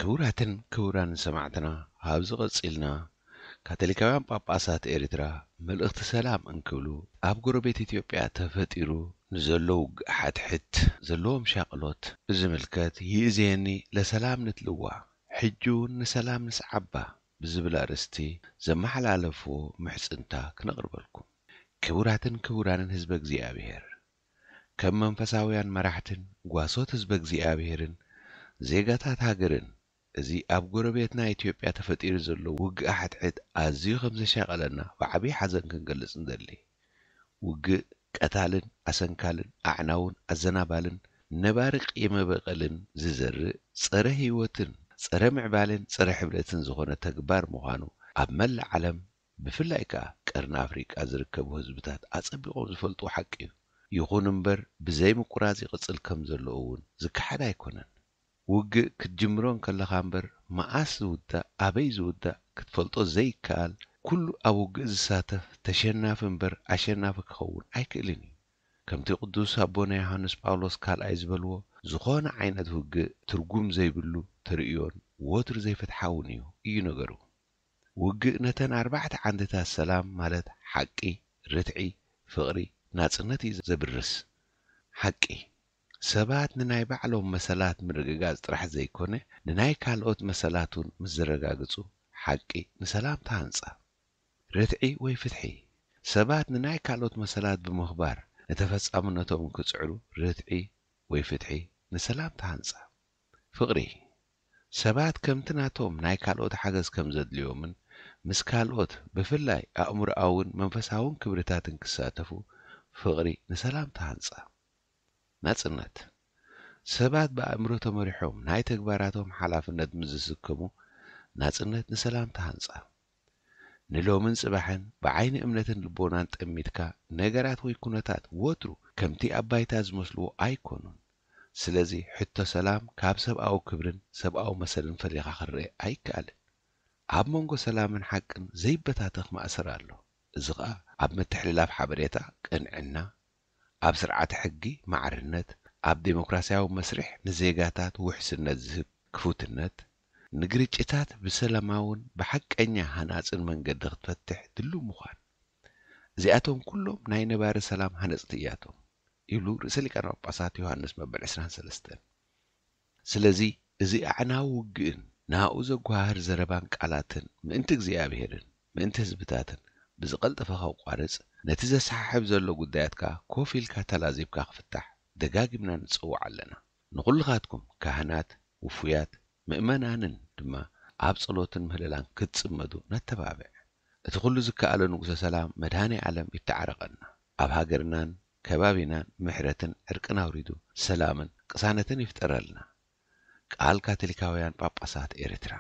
ክቡራትን ክቡራንን ሰማዕትና፣ ካብዚ ቀጺልና ካቶሊካውያን ጳጳሳት ኤርትራ መልእኽቲ ሰላም እንክብሉ፣ ኣብ ጎረቤት ኢትዮጵያ ተፈጢሩ ንዘሎ ውግእ ሓድሕድ ዘለዎም ሻቕሎት ብዝምልከት፣ ይእዜኒ ለሰላም ንትልዋ፣ ሕጂ እውን ንሰላም ንስዓባ ብዝብል ኣርእስቲ ዘመሓላለፍዎ ምሕጽንታ ክነቕርበልኩም። ክቡራትን ክቡራንን ህዝበ እግዚኣብሔር፣ ከም መንፈሳውያን መራሕትን ጓሶት ህዝበ እግዚኣብሔርን ዜጋታት ሃገርን፣ እዚ ኣብ ጎረቤትና ኢትዮጵያ ተፈጢሩ ዘሎ ውግእ ሓድሕድ ኣዝዩ ከም ዘሻቐለና ብዓብዪ ሓዘን ክንገልጽ ንደሊ። ውግእ ቀታልን ኣሰንካልን፣ ኣዕናውን ኣዘናባልን፣ ነባሪ ቂመ በቐልን ዝዘርእ፣ ጸረ ህይወትን ጸረ ምዕባለን ጸረ ሕብረትን ዝኾነ ተግባር ምዃኑ ኣብ መላእ ዓለም፣ ብፍላይ ከኣ ቀርኒ ኣፍሪቃ ዝርከቡ ህዝብታት ኣጸቢቖም ዝፈልጥዎ ሓቂ እዩ። ይኹን እምበር፣ ብዘይ ምቁራጽ ይቕጽል ከም ዘሎ እውን ዝከሓድ ኣይኮነን። ውግእ ክትጅምሮ እንከለኻ እምበር፣ መኣስ ዝውዳእ፣ ኣበይ ዝውዳእ ክትፈልጦ ዘይከኣል፣ ኩሉ ኣብ ውግእ ዝሳተፍ ተሸናፊ እምበር ኣሸናፊ ክኸውን ኣይክእልን እዩ። ከምቲ ቅዱስ ኣቦና ዮሃንስ ጳውሎስ ካልኣይ ዝበልዎ፣ ዝኾነ ዓይነት ውግእ ትርጉም ዘይብሉ ተርእዮን ወትሩ ዘይፍትሓውን እዩ፣ እዩ ነገሩ። ውግእ ነተን ኣርባዕተ ዓንድታት ሰላም ማለት ሓቂ፣ ርትዒ፣ ፍቕሪ፣ ናጽነት እዩ ዘብርስ። ሓቂ፣ ሰባት ንናይ ባዕሎም መሰላት ምርግጋጽ ጥራሕ ዘይኮነ፣ ንናይ ካልኦት መሰላት እውን ምስ ዘረጋግጹ፣ ሓቂ ንሰላም ተሃንጻ። ርትዒ ወይ ፍትሒ፣ ሰባት ንናይ ካልኦት መሰላት ብምኽባር ንተፈጻምነቶም ክጽዕሩ፣ ርትዒ ወይ ፍትሒ ንሰላም ተሃንጻ። ፍቕሪ፣ ሰባት ከምቲ ናቶም ናይ ካልኦት ሓገዝ ከም ዘድልዮምን ምስ ካልኦት ብፍላይ ኣእምሮኣውን መንፈሳውን ክብርታትን ክሳተፉ፣ ፍቕሪ ንሰላም ተሃንጻ። ናጽነት፣ ሰባት ብኣእምሮ ተመሪሖም ናይ ተግባራቶም ሓላፍነት ምስ ዝስከሙ፣ ናጽነት ንሰላም ተሃንጻ። ንሎምን ጽባሕን ብዓይኒ እምነትን ልቦናን ጠሚትካ፣ ነገራት ወይ ኩነታት ወትሩ ከምቲ ኣብ ባይታ ዝመስልዎ ኣይኮኑን። ስለዚ፣ ሕቶ ሰላም ካብ ሰብኣዊ ክብርን ሰብኣዊ መሰልን ፈሊኻ ክረአ ኣይከኣልን። ኣብ መንጎ ሰላምን ሓቅን ዘይበታተኽ ማእሰር ኣሎ። እዚ ኸኣ ኣብ ምትሕልላፍ ሓበሬታ ቅንዕና፣ ኣብ ስርዓተ ሕጊ ማዕርነት፣ ኣብ ዴሞክራስያዊ መስርሕ ንዜጋታት ውሕስነት ዝህብ ክፉትነት፣ ንግርጭታት ብሰላማውን ብሓቀኛ ሃናጽን መንገዲ ክትፈትሕ ድሉው ምዃን። እዚኣቶም ኩሎም ናይ ነባሪ ሰላም ሃነጽቲ እያቶም፣ ይብሉ ርእሰ ሊቃነ ጳጳሳት ዮሃንስ መበል ዕስራን ሰለስተን። ስለዚ፣ እዚ ኣዕናዊ ውግእን ናኡ ዘጓሃህር ዘረባን ቃላትን ምእንቲ እግዚኣብሔርን ምእንቲ ህዝብታትን ብዝቐልጠፈ ከቋርጽ፣ ነቲ ዘሰሓሕብ ዘሎ ጉዳያት ከኣ ኮፍ ኢልካ ተላዚብካ ክፍታሕ ደጋጊምና ንጽውዕ ኣለና። ንኹልኻትኩም ካህናት፣ ውፉያት፣ ምእመናንን ድማ ኣብ ጸሎትን ምህለላን ክትጽመዱ ነተባብዕ። እቲ ኩሉ ዝከኣሎ ንጉሰ ሰላም መድኃኔ ዓለም ይተዓረቐና። ኣብ ሃገርናን ከባቢናን ምሕረትን ዕርቅን ኣውሪዱ ሰላምን ቅሳነትን ይፍጠረልና። ቃል ካቶሊካውያን ጳጳሳት ኤርትራ።